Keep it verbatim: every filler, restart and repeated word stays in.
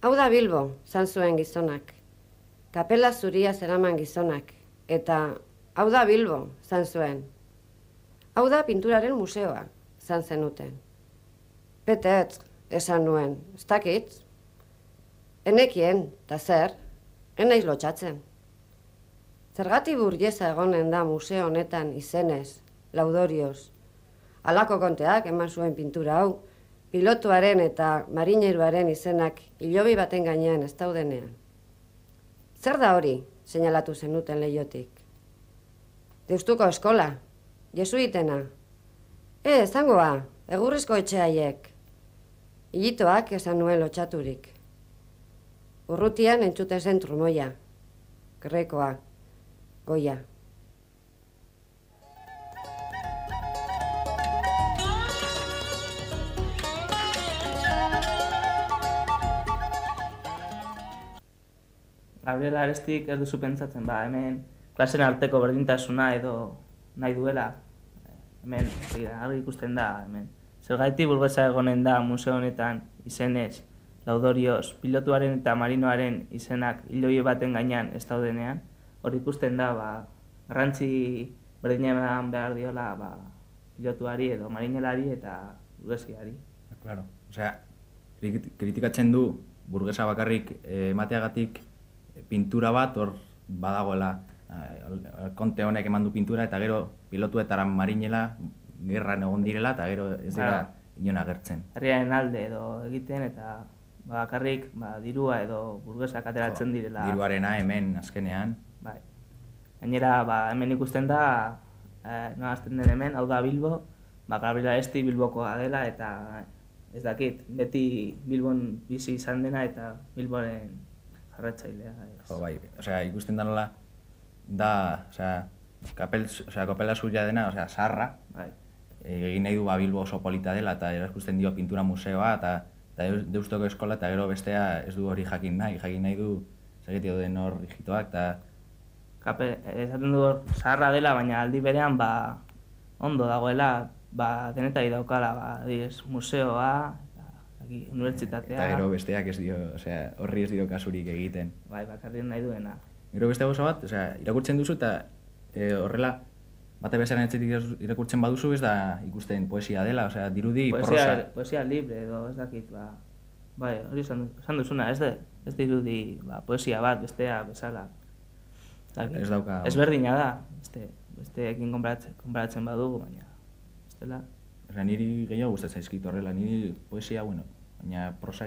Hau da Bilbo, zan zuen gizonak. Kapela zuria zeraman gizonak. Eta hau da Bilbo, zan zuen. Hau da pinturaren museoa, zan zenuten. Petetz, esan nuen, ez dakit. Enekien, eta zer, enaiz lotxatzen. Zergati burgesa egonen da museo honetan izenez, laudorioz. Halako konteak eman zuen pintura hau, pilotuaren eta marineruaren izenak hilobi baten gainean ez daudenean. Zer da hori, seinalatu zenuten leihotik? Deustuko eskola, jesuitena. E, zangoa, egurrizko etxeaiek. Hilitoak esan nuen lotxaturik. Urrutian entzute zen trumoia, grekoa, goia. Gabriela Arestik ez duzu pentsatzen, ba, hemen klasen arteko berdintasuna edo nahi duela. Hemen, argi ikusten da, hemen. Zergatik burgesa egonen da museo honetan izenez, laudorioz, pilotuaren eta marinoaren izenak hiloi baten gainean ez daudenean, hor ikusten da, ba, garrantzi berdinean behar diola, ba, pilotuari edo marinelari eta burgesiari. Claro, osea, kritikatzen du burgesa bakarrik emateagatik pintura bat hor badagoela. Konte honek eman du pintura eta gero pilotu eta marinela gerran egon direla eta gero ez dira inon agertzen. Herriaren alde edo egiten eta bakarrik dirua edo burgesak ateratzen direla. Diruarena hemen azkenean. Bai. Gainera hemen ikusten da, nolazten den hemen, hau da Bilbo, Gabriela Aresti Bilbokoa dela eta ez dakit, beti Bilbon bizi izan dena eta Bilboren jarratzailea. Jo, bai, osea, ikusten da nola, da, osea, kapela zuria dena, osea, zaharra, egin nahi du Bilbo oso polita dela eta erakusten dio pintura museoa eta Deustoko eskola eta gero bestea ez du hori jakin nahi, jakin nahi du segetio den hor hijitoak eta... Esaten du hor zaharra dela, baina aldi berean ondo dagoela, denetari daukala, museoa, unibertsitatea... Eta gero besteak ez dio, osea, horri ez dio kasurik egiten. Bai, bakarrik nahi duena. Gero beste gauza bat, osea, irakurtzen duzu eta horrela, bate bezaren etxetik irakurtzen baduzu ez da ikusten poesia dela, osea, dirudi prosa. Poesia libre edo ez dakit, ba... Bai, hori esan duzuna, ez dirudi poesia bat, bestea, bezala. Ez dauka... Ez berdina da, besteekin konparatzen badugu, baina... Ez dela... Niri gehiago gustatzen zaizkit horrela, niri poesia, bueno, baina prosa...